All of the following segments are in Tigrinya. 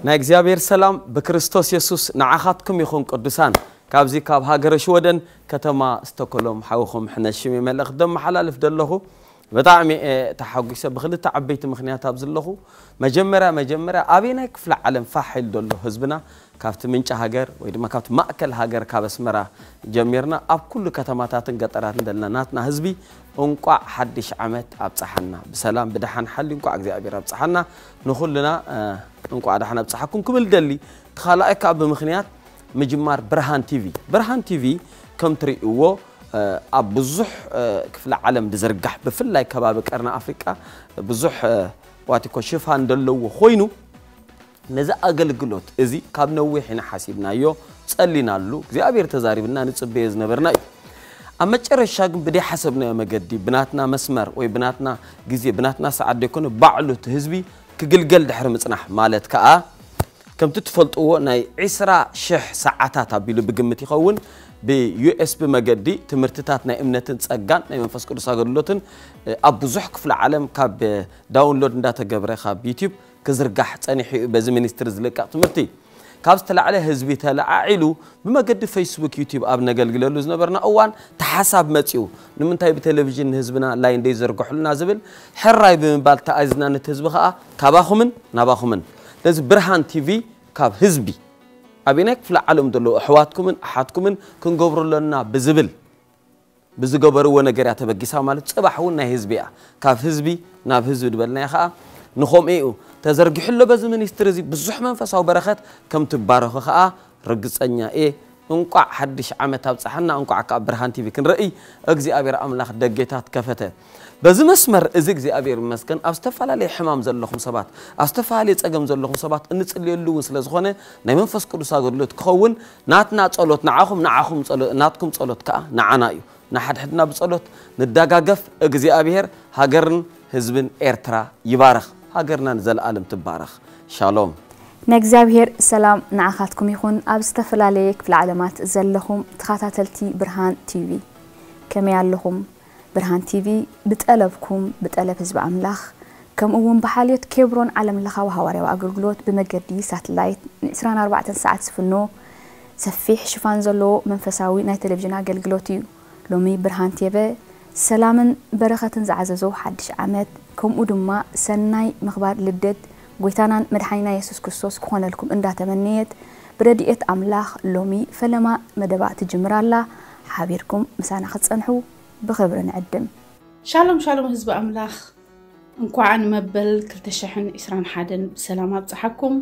ናይ እግዚኣብሔር ሰላም ብክርስቶስ የሱስ ንዓኻትኩም ይኹን ቅዱሳን። ካብዚ ካብ ሃገረ ሽወደን ከተማ ስቶኮሎም ሓውኹም ሕነሽም መልእኽቲ ደመሓላልፍ ዘለኹ። ብጣዕሚ እየ ተሓጒሰ ብክልተ ዓበይቲ ምኽንያት ኣብዚ ኣለኹ። መጀመርያ መጀመርያ ኣበየናይ ክፍለ ዓለም ፋሕ ኢሉ ዘሎ ህዝብና ካብቲ ምንጪ ሃገር ወይ ድማ ካብቲ ማእከል ሃገር ካብ ኣስመራ ጀሚርና ኣብ ኩሉ ከተማታትን ገጠራትን ዘለና ናትና ህዝቢ እንቋዕ ሓድሽ ዓመት ኣብፀሓና። ብሰላም ብደሓን ሓሊ እንቋዕ እግዚኣብሔር ኣብፀሓና። ንኹልና እንቋዕ ደሓን ኣብፀሓኩም ክብል ደሊ። ተኻልኣይ ከዓ ብምኽንያት ምጅማር ብርሃን ቲቪ። ብርሃን ቲቪ ከም ትርእይዎ ኣብ ብዙሕ ክፍለ ዓለም ዝዝርጋሕ ብፍላይ ከባቢ ቀርኒ ኣፍሪቃ ብዙሕ ዋቲኮ ሽፋን ዘለዎ ኮይኑ ነዚ ኣገልግሎት እዚ ካብ ነዊሕ ኢና ሓሲብናዮ፣ ጸሊናሉ፣ እግዚኣብሔር ተዛሪብና ንጽበዮ ዝነበርና እዩ። ኣብ መጨረሻ ግን ብደይ ሓሰብናዮ መገዲ ብናትና መስመር ወይ ብናትና ግዜ ብናትና ሰዓት ደይኮነ ባዕሉ እቲ ህዝቢ ክግልገል ድሕሪ ምጽናሕ ማለት ከኣ ከምቲ ትፈልጥዎ ናይ ዒስራ ሽሕ ሰዓታት ኣቢሉ ብግምት ይኸውን ብዩኤስቢ መገዲ ትምህርትታት ናይ እምነትን ጸጋን ናይ መንፈስ ቅዱስ ኣገልግሎትን ኣብ ብዙሕ ክፍለ ዓለም ካብ ዳውንሎድ እንዳተገብረ ካብ ዩቲዩብ ክዝርጋሕ ጸኒሑ እዩ። በዚ ሚኒስትሪ ዝልቀቕ ትምህርቲ ካብ ዝተላዕለ ህዝቢ ተለዓዒሉ ብመገዲ ፌስቡክ ዩቲዩብ ኣብ ነገልግለሉ ዝነበርና እዋን ተሓሳብ መጺኡ ንምንታይ ብቴሌቪዥን ንህዝብና ላይን ደይዘርግሑልና ዝብል ሕራይ ብምባል ተኣዚዝና ነቲ ህዝቢ ከኣ ካባኹምን ናባኹምን ነዚ ብርሃን ቲቪ ካብ ህዝቢ ኣበየናይ ክፍለ ዓለም ዘለዉ ኣሕዋትኩምን ኣሓትኩምን ክንገብሮ ኣለና ብዝብል ብዝገበርዎ ነገር እያ ተበጊሳ ማለት ጽባሕ እውን ናይ ህዝቢ እያ ካብ ህዝቢ ናብ ህዝቢ ዝበልናዮ ከዓ ንኸምኡ እዩ ተዘርጊሑ ኣሎ በዚ ሚኒስትሪ እዚ ብዙሕ መንፈሳዊ በረኸት ከም ትባረኹ ከዓ ርግፀኛ እየ። እንቋዕ ሓድሽ ዓመት ኣብፀሓና እንቋዕ ከዓ ብርሃን ቲቪ ክንርኢ እግዚኣብሔር ኣምላኽ ደጌታት ከፈተ። በዚ መስመር እዚ እግዚኣብሔር ይመስገን ኣብ ዝተፈላለየ ሕማም ዘለኹም ሰባት ኣብ ዝተፈላለየ ፀገም ዘለኹም ሰባት እንፅልየሉ እውን ስለ ዝኾነ ናይ መንፈስ ቅዱስ ኣገልግሎት ክኸውን ናትና ጸሎት ንዓኹም ንዓኹም ጸሎት ናትኩም ጸሎት ከኣ ንዓና እዩ። ንሓድሕድና ብጸሎት ንደጋገፍ እግዚኣብሔር ሃገርን ህዝብን ኤርትራ ይባርኽ። ሃገርና ንዘለኣለም ትባረኽ። ሻሎም። ንእግዚኣብሔር ሰላም ንዓኻትኩም ይኹን ኣብ ዝተፈላለየ ክፍለ ዓለማት ዘለኹም ተኸታተልቲ ብርሃን ቲቪ ከመይ ኣለኹም? ብርሃን ቲቪ ብጠለብኩም ብጠለብ ህዝቢ ኣምላኽ ከምኡ እውን ብሓልዮት ኬብሮን ዓለም ለኻዊ ሃዋርያዊ ኣገልግሎት ብመገዲ ሳትላይት ን24 ሰዓት ዝፍኖ ሰፊሕ ሽፋን ዘለዎ መንፈሳዊ ናይ ቴሌቪዥን ኣገልግሎት እዩ። ሎሚ ብርሃን ቴቨ ሰላምን በረኸትን ዝዓዘዞ ሓድሽ ዓመት ከምኡ ድማ ሰናይ ምኽባር ልደት ጎይታናን መድሓኒና የሱስ ክርስቶስ ክኾነልኩም እንዳተመነየት ብረድኤት ኣምላኽ ሎሚ ፈለማ መደባ ትጅምር ኣላ። ሓቢርኩም ምሳና ክትጸንሑ ብኽብሪ ንዕድም። ሻሎም ሻሎም ህዝቢ ኣምላኽ እንኳዕ ንመበል ክልተ ሽሕን ዕስራን ሓደን ብሰላም ኣብፀሓኩም።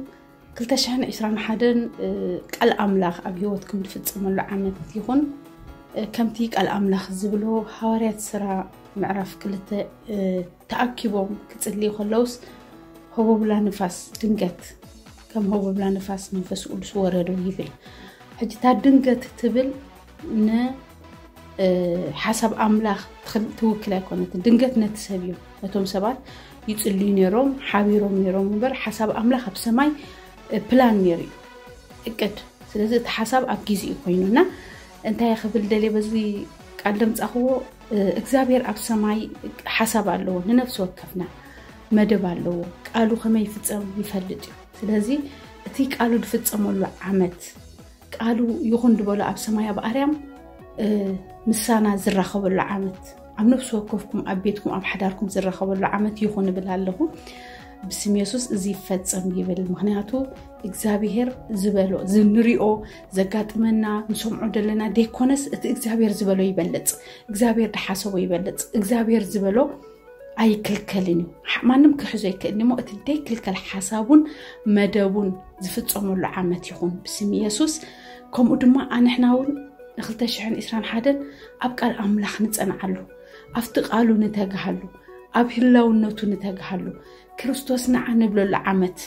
ክልተ ሽሕን ዕስራን ሓደን ቃል ኣምላኽ ኣብ ህይወትኩም ዝፍፀመሉ ዓመት ይኹን። ከምቲ ቃል ኣምላኽ ዝብሎ ሃዋርያት ስራ ምዕራፍ ክልተ ተኣኪቦም ክፅልዩ ከለውስ ህቦብላ ንፋስ ድንገት ከም ህቦብላ ንፋስ መንፈስ ቅዱስ ወረዶ ይብል። ሕጂ እታ ድንገት ትብል ንሓሳብ ኣምላኽ ትውክል ኣይኮነትን። ድንገት ነቲ ሰብ እዮም ነቶም ሰባት ይፅልዩ ነይሮም ሓቢሮም ነይሮም እምበር ሓሳብ ኣምላኽ ኣብ ሰማይ ፕላን ነይሩ እዩ እቅድ። ስለዚ እቲ ሓሳብ ኣብ ግዜ እዩ ኮይኑ እና እንታይ ክብል ደልየ በዚ ቃል ደምፃኽዎ እግዚኣብሔር ኣብ ሰማይ ሓሳብ ኣለዎ ንነፍሲ ወከፍና መደብ ኣለዎ። ቃሉ ከመይ ይፍፀም ይፈልጥ እዩ። ስለዚ እቲ ቃሉ ዝፍፀመሉ ዓመት ቃሉ ይኹን ዝበሎ ኣብ ሰማይ ኣብ ኣርያም ምሳና ዝራኸበሉ ዓመት ኣብ ነፍሲ ወከፍኩም ኣብ ቤትኩም ኣብ ሓዳርኩም ዝራኸበሉ ዓመት ይኹን እብል ኣለኹ። ብስም የሱስ እዚ ይፈጸም ይብል። ምኽንያቱ እግዚኣብሔር ዝበሎ እዚ ንሪኦ ዘጋጥመና ንሰምዖ ዘለና ደይኮነስ እቲ እግዚኣብሔር ዝበሎ ይበልጽ። እግዚኣብሔር ድሓሰቦ ይበልጽ። እግዚኣብሔር ዝበሎ ኣይክልከልን እዩ። ማንም ክሕዞ ኣይክእልን እሞ እቲ ደይክልከል ሓሳቡን መደቡን ዝፍጸመሉ ዓመት ይኹን ብስም የሱስ። ከምኡ ድማ ኣንሕና እውን ንክልተ ሽሕን ዕስራን ሓደን ኣብ ቃል ኣምላኽ ንጸንዓሉ፣ ኣብቲ ቃሉ ንተግሃሉ፣ ኣብ ህላውነቱ ንተግሃሉ፣ ክርስቶስ ንዓ ንብለሉ ዓመት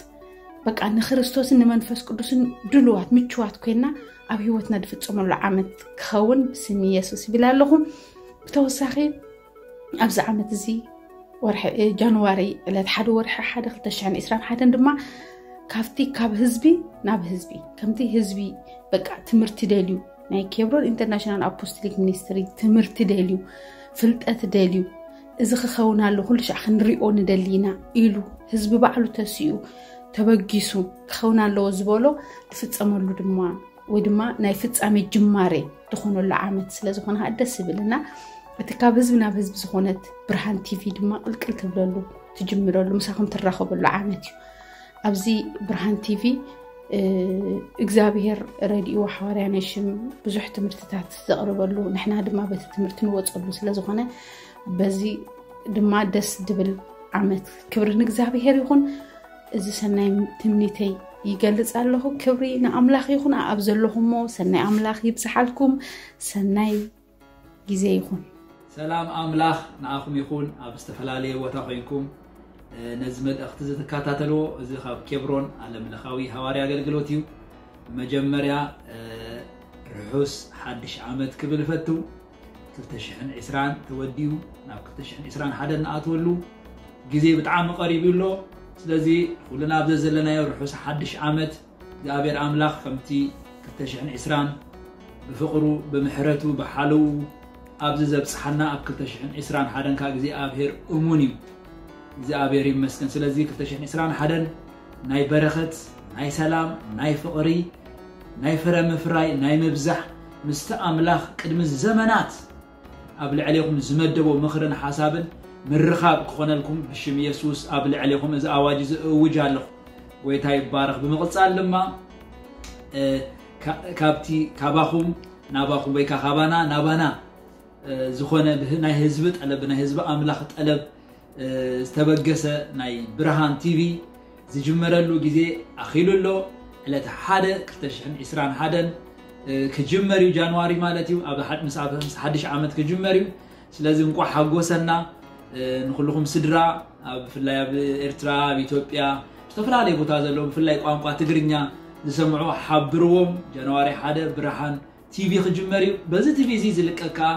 በቃ ንክርስቶስን ንመንፈስ ቅዱስን ድልዋት ምችዋት ኮይና ኣብ ህይወትና ዝፍጸመሉ ዓመት ክኸውን ብስም የሱስ ይብል ኣለኹ። ብተወሳኺ ኣብዚ ዓመት እዚ ወርሒ ጃንዋሪ ዕለት ሓደ ወርሒ ሓደ ክልተ ሽሕን ዕስራን ሓደን ድማ ካብቲ ካብ ህዝቢ ናብ ህዝቢ ከምቲ ህዝቢ በቃ ትምህርቲ ደልዩ ናይ ኬብሮን ኢንተርናሽናል ኣፖስቶሊክ ሚኒስትሪ ትምህርቲ ደልዩ ፍልጠት ደልዩ እዚ ክኸውን ኣሎ ኩሉ ሻዕ ክንሪኦ ንደሊ ኢና ኢሉ ህዝቢ ባዕሉ ተሲኡ ተበጊሱ ክኸውን ኣለዎ ዝበሎ ዝፍጸመሉ ድማ ወይ ድማ ናይ ፍጻሜ ጅማሬ ዝኾነሉ ዓመት ስለ ዝኾነ ከዓ ደስ ይብልና። እቲ ካብ ህዝቢ ናብ ህዝቢ ዝኾነት ብርሃን ቲቪ ድማ ቅልቅል ትብለሉ ትጅምረሉ ምሳኹም ትራኸበሉ ዓመት እዩ። ኣብዚ ብርሃን ቲቪ እግዚኣብሔር ረድእዎ ሓዋርያ ናይ ሽም ብዙሕ ትምህርትታት ዘቕርበሉ ንሕና ድማ በቲ ትምህርቲ ንወፀሉ ስለ ዝኾነ በዚ ድማ ደስ ድብል ዓመት ክብሪ ንእግዚኣብሔር ይኹን። እዚ ሰናይ ትምኒተይ ይገልጽ ኣለኹ። ክብሪ ንኣምላኽ ይኹን። ኣብ ዘለኹሞ ሰናይ ኣምላኽ ይብዝሓልኩም። ሰናይ ግዜ ይኹን። ሰላም ኣምላኽ ንኣኹም ይኹን። ኣብ ዝተፈላለየ ቦታ ኮይንኩም ነዚ መልእኽቲ እዚ ትከታተልዎ፣ እዚ ካብ ኬብሮን ዓለም ለኻዊ ሃዋርያ ኣገልግሎት እዩ። መጀመርያ ርሑስ ሓድሽ ዓመት ክብል እፈቱ። ክልተ ሽሕን ዕስራን ተወዲኡ ናብ ክልተ ሽሕን ዕስራን ሓደን ንኣትወሉ ግዜ ብጣዕሚ ቀሪቡ ኣሎ። ስለዚ ኩልና ኣብ ዘዘለናዮ ርሑስ ሓድሽ ዓመት እግዚኣብሔር ኣምላኽ ከምቲ ክልተ ሽሕን ዕስራን ብፍቕሩ ብምሕረቱ ብሓለዉ ኣብዚ ዘብጽሓና ኣብ ክልተ ሽሕን ዕስራን ሓደን ከዓ እግዚኣብሔር እሙን እዩ። እግዚኣብሔር ይመስገን። ስለዚ ክልተ ሽሕን ዕስራን ሓደን ናይ በረኸት፣ ናይ ሰላም፣ ናይ ፍቕሪ፣ ናይ ፍረ ምፍራይ፣ ናይ ምብዛሕ ምስቲ ኣምላኽ ቅድሚ ዘመናት ኣብ ልዕሌኹም ዝመደቦ ምኽርን ሓሳብን ምርኻብ ክኾነልኩም ብሽም የሱስ ኣብ ልዕሌኹም እዚ ኣዋጅ እዚ እውጅ ኣለኹ። ጎይታ ይባረኽ። ብምቕጻል ድማ ካብቲ ካባኹም ናባኹም ወይ ካባና ናባና ዝኾነ ናይ ህዝቢ ጠለብ ናይ ህዝቢ ኣምላኽ ጠለብ ዝተበገሰ ናይ ብርሃን ቲቪ ዝጅመረሉ ግዜ ኣኺሉ ኣሎ። ዕለት ሓደ ክልተ ሽሕን ዕስራን ሓደን ክጅመር እዩ፣ ጃንዋሪ ማለት እዩ። ኣብ ምስ ሓድሽ ዓመት ክጅመር እዩ። ስለዚ እንቋዕ ሓጎሰና ንኩልኹም ስድራ፣ ብፍላይ ኣብ ኤርትራ፣ ኣብ ኢትዮጵያ፣ ዝተፈላለየ ቦታ ዘለዉ ብፍላይ ቋንቋ ትግርኛ ዝሰምዑ ሓብርዎም። ጃንዋሪ ሓደ ብርሃን ቲቪ ክጅመር እዩ። በዚ ቲቪ እዚ ዝልቀቅ ከዓ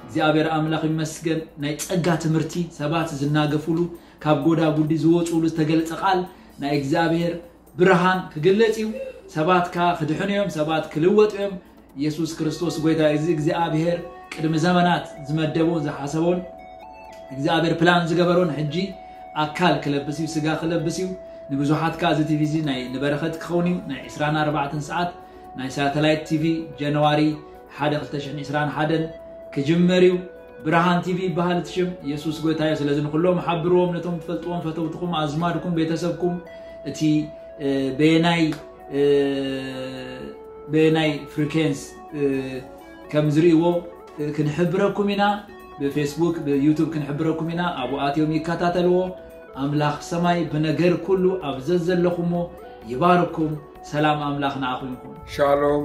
እግዚኣብሔር ኣምላኽ ይመስገን ናይ ጸጋ ትምህርቲ ሰባት ዝናገፉሉ ካብ ጎዳጉዲ ዝወፅሉ ዝተገለጸ ቃል ናይ እግዚኣብሔር ብርሃን ክግለጽ እዩ። ሰባት ከዓ ክድሕኑ እዮም፣ ሰባት ክልወጡ እዮም። ኢየሱስ ክርስቶስ ጎይታ እዚ እግዚኣብሔር ቅድሚ ዘመናት ዝመደቦን ዝሓሰቦን እግዚኣብሔር ፕላን ዝገበሮን ሕጂ ኣካል ክለብስ እዩ፣ ስጋ ክለብስ እዩ። ንብዙሓት ከዓ እዚ ቲቪ እዚ ናይ ንበረኸት ክኸውን እዩ። ናይ ዕስራን ኣርባዕተን ሰዓት ናይ ሳተላይት ቲቪ ጃንዋሪ ሓደ ክልተ ሽሕን ዕስራን ሓደን ክጅመር እዩ። ብርሃን ቲቪ ይበሃል እቲ ሽም። ኢየሱስ ጎይታ እዩ። ስለዚ ንኩሎም ሓብርዎም፣ ነቶም ትፈልጥዎም፣ ፈተውትኹም፣ ኣዝማድኩም፣ ቤተሰብኩም እቲ በየናይ በየናይ ፍሪኬንስ ከም ዝርእይዎ ክንሕብረኩም ኢና። ብፌስቡክ ብዩቱብ ክንሕብረኩም ኢና። ኣብኡ ኣትዮም ይከታተልዎ። ኣምላኽ ሰማይ ብነገር ኩሉ ኣብ ዘዘለኹሞ ይባርኩም። ሰላም ኣምላኽ ንኣኹም ይኹን። ሻሎም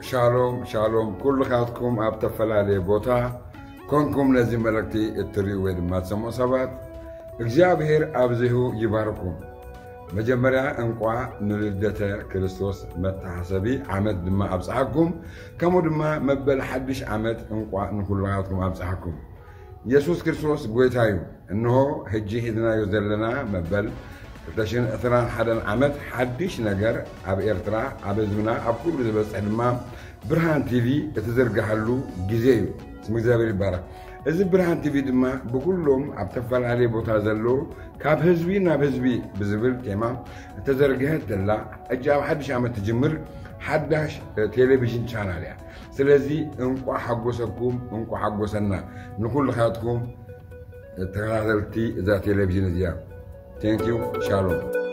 ሻሎም ሻሎም ኩልኻትኩም ኣብ ተፈላለየ ቦታ ኮንኩም ነዚ መልእክቲ እትርእዩ ወይ ድማ ትሰምዑ ሰባት እግዚኣብሔር ኣብዚሁ ይባርኩም። መጀመርያ እንቋዕ ንልደተ ክርስቶስ መተሓሰቢ ዓመት ድማ ኣብፀሓኩም። ከምኡ ድማ መበል ሓድሽ ዓመት እንቋዕ ንኩልኻትኩም ኣብፀሓኩም። የሱስ ክርስቶስ ጎይታ እዩ። እንሆ ሕጂ ሒዝናዮ ዘለና መበል ክልተ ሽሕን ዕስራን ሓደን ዓመት ሓድሽ ነገር ኣብ ኤርትራ ኣብ ህዝብና ኣብ ኩሉ ዝበፅሕ ድማ ብርሃን ቲቪ እትዝርግሓሉ ግዜ እዩ። ስም እግዚኣብሔር ይባረክ። እዚ ብርሃን ቲቪ ድማ ብኩሎም ኣብ ተፈላለየ ቦታ ዘለዉ ካብ ህዝቢ ናብ ህዝቢ ብዝብል ቴማ እተዘርግሐት ዘላ ሕጂ ኣብ ሓድሽ ዓመት ትጅምር ሓዳሽ ቴሌቪዥን ቻናል እያ። ስለዚ እንቋዕ ሓጎሰኩም እንቋዕ ሓጎሰና ንኩልኻትኩም ተኸታተልቲ እዛ ቴሌቪዥን እዚኣ። Thank you. ሻሎም።